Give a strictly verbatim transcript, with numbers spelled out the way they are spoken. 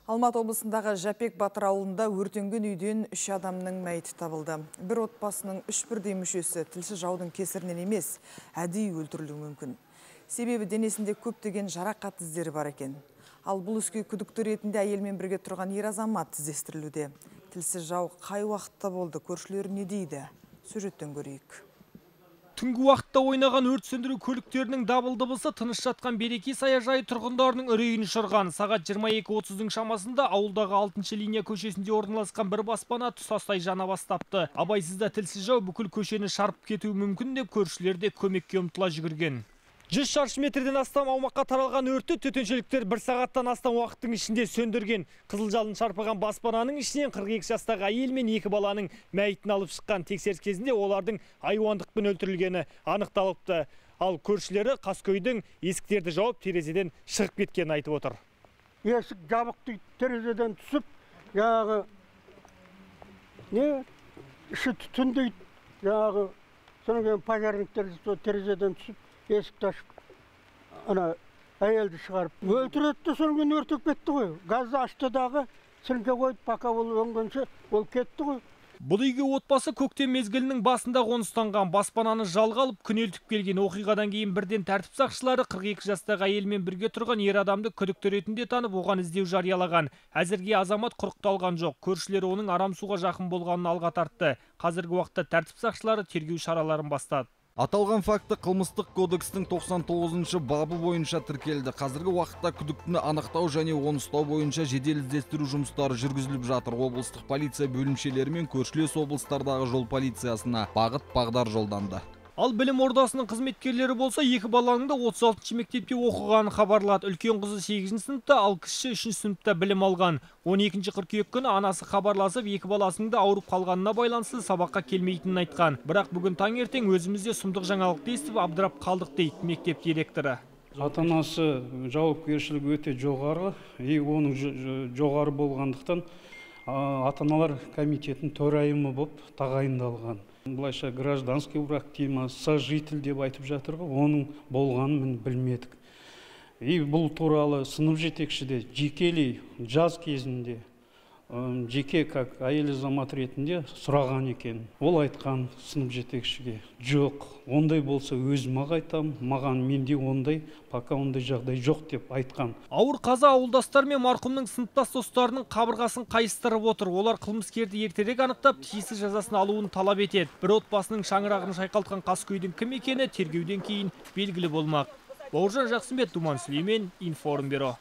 Алматы облысындағы Жапек Батыр ауылында өртенген үйден үш адамның мәйіті табылды. Бір отбасының үш бірдей мүшесі тілсіз жаудың кесірінен емес, әдейі өлтірілуі мүмкін. Себебі денесінде көптеген жарақат іздері бар екен. Ал бұл іске күдікті ретінде әйелмен бірге тұрған ер азамат іздестірілуде. Тілсіз жау қай уақытта болды, көршілер не дейді? Сюжеттен көрейік. Түнгі уақытта ойнаған өрт сөндіру көліктерінің дабыл дыбысы тыныш жатқан Береке саяжайы тұрғындарының үрейін ұшырған. Сағат жиырма екі отыздың шамасында ауылдағы алтыншы линия көшесінде орналасқан бір баспана тұтастай жана бастапты. Абайсызда тілсіз жау бүкіл көшені шарпып кетуі мүмкін деп көршілер де көмекке ұмтыла жүгірген. жүз шаршы метрден астам аумаққа таралған өртті төтеншеліктер бір сағаттан астам уақыттың ішінде сөндірген. Қызыл жалын шарпыған баспананың ішінен қырық екі жастағы әйел мен екі баланың мәйітін алып шыққан. Тексеріс кезінде олардың айуандықпен өлтірілгені анықталыпты. Ал көршілері қаскөйдің есіктерді жауып терезеден шығып кеткенін айтып отыр. Есік жабық дейді, терезеден түсіп, яғы не іші түтін дейді, яғы содан пожарниктер терезеден түсіп есікті ашып, ана әйелді шығарып өлтіретті, соңын өртеп кетті ғой. Газды ашты дағы, сіріңке қойып, пока ол өңгенше ол кетті ғой. Бұл үйге отбасы көктем мезгілінің басында қоныстанған. Баспананы жалға алып күнелтіп келген. Оқиғадан кейін бірден тәртіп сақшылары қырық екі жастағы әйелмен бірге тұрған ер адамды күдікті ретінде танып, оған іздеу жариялаған. Әзірге азамат құрықталған жоқ. Көршілері оның арам суға жақын болғанын алға тартты. Қазіргі уақытта тәртіп сақшылары тергеу шараларын бастады. Аталған факті қылмыстық кодекстің тоқсан тоғызыншы бабы бойынша тіркелді. Қазіргі уақытта күдіктіні анықтау және оны ұстау бойынша жедел іздестіру жұмыстары жүргізіліп жатыр. Облыстық полиция бөлімшелері мен көршілес облыстардағы жол полициясына бағыт-бағдар жолданды. Ал білім ордасының қызметкерлері болса, екі баланың да отыз алтыншы мектепте оқығанын хабарлады. Үлкен қызы сегізінші сыныпта, ал кіші үшінші сыныпта білім алған. он екінші қыркүйек күні анасы хабарласып, екі баласының да ауырып қалғанына байланысты сабаққа келмейтінін айтқан. Бірақ бүгін таңертең өзімізде сұмдық жаңалықты естіп абдырап қалдық дейді мектеп директоры. Ата-анасы жауапкершілігі өте жоғары, и оның жоғары болғандықтан ата-аналар комитетінің төрайымы болып тағайындалған. Бұлайша гражданский брак дейміз, сожитель деп айтып жатыр ғой, оның болғанын мен білмедік. И бұл туралы сынып жетекші де жекелей жаз кезінде жеке как әйел азамат ретінде сұраған екен. Ол айтқан сынып жетекшіге: жоқ, ондай болса өзіме айтам, маған менде ондай, пока ондай жағдай жоқ деп айтқан. Ауыр қаза ауылдастар мен марқұмның сыныптас достарының қабырғасын қайыстырып отыр. Олар қылмыскерді ертерек анықтап, тиісті жазасын алуын талап етеді. Бір отбасының шаңырағын шайқалтқан қаскөйдің кім екені тергеуден кейін белгілі болмақ. Бауыржан Жақсымбет, Думан Сүлеймен, Информбюро.